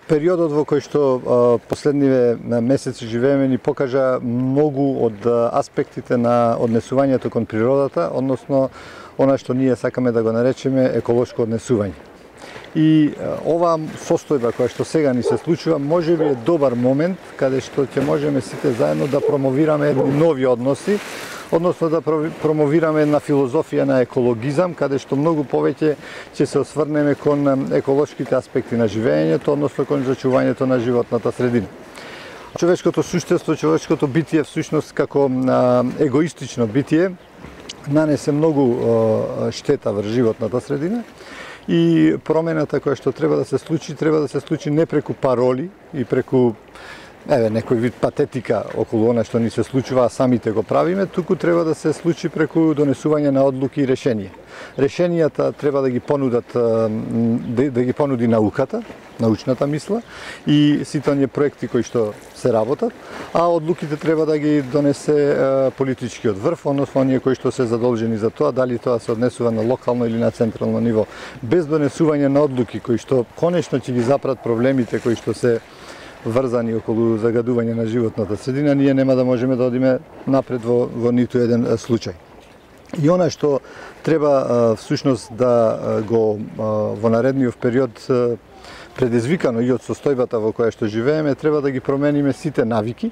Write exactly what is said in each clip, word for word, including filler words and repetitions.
Периодот во кој што последниве месеци живееме ни покажа многу од аспектите на однесувањето кон природата, односно она што ние сакаме да го наречеме еколошко однесување. И оваа состојба која што сега ни се случува можеби е добар момент каде што ќе можеме сите заедно да промовираме едни нови односи, односно да промовираме една филозофија на екологизам, каде што многу повеќе ќе се осврнеме кон еколошките аспекти на живеењето, односно кон зачувањето на животната средина. Човечкото суштество, човечкото битие всушност како егоистично битие нанесе многу штета врз животната средина. И промената која што треба да се случи, треба да се случи не преку пароли и преку еве некој вид патетика околу она што ни се случува, а самите го правиме, туку треба да се случи преку донесување на одлуки и решенија. Решенијата треба да ги понудат да, да ги понуди науката, научната мисла и сите оние проекти кои што се работат, а одлуките треба да ги донесе политичкиот врв, односно оние кои што се задолжени за тоа, дали тоа се однесува на локално или на централно ниво. Без донесување на одлуки кои што конечно ќе ги запрат проблемите кои што се врзани околу загадување на животната средина, ние нема да можеме да одиме напред во, во ниту еден случај. И она што треба всушност да го во наредниот период предизвикано и од состојбата во која што живееме, треба да ги промениме сите навики,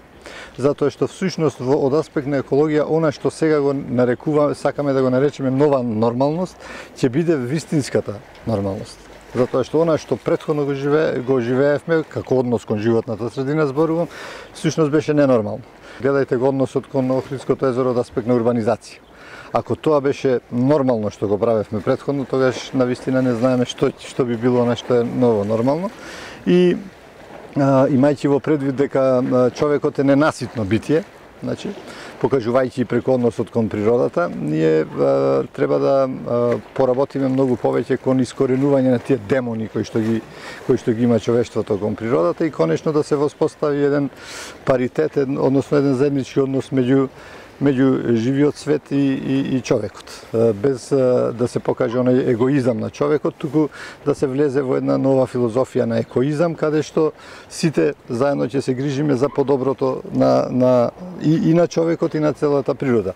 затоа што всушност од аспект на екологија, она што сега го нарекуваме, сакаме да го наречеме нова нормалност, ќе биде вистинската нормалност. Затоа што она што претходно го, живе, го живеевме, како однос кон животната средина зборувам, всушност беше ненормално. Гледајте го односот кон Охридското езеро од аспект на урбанизација. Ако тоа беше нормално што го правевме претходно, тогаш навистина не знаеме што што би било она што е ново нормално. И а, имајќи во предвид дека човекот е ненаситно битие, значи покажувајќи преку односот кон природата, ние а, треба да а, поработиме многу повеќе кон искоренување на тие демони кои што ги кои што ги има човештвото кон природата и конечно да се воспостави еден паритет, еден, односно еден заеднички однос меѓу меѓу живиот свет и, и, и човекот. Без да се покаже онај егоизам на човекот, туку да се влезе во една нова филозофија на екоизам, каде што сите заедно ќе се грижиме за подоброто на, на, и, и на човекот и на целата природа.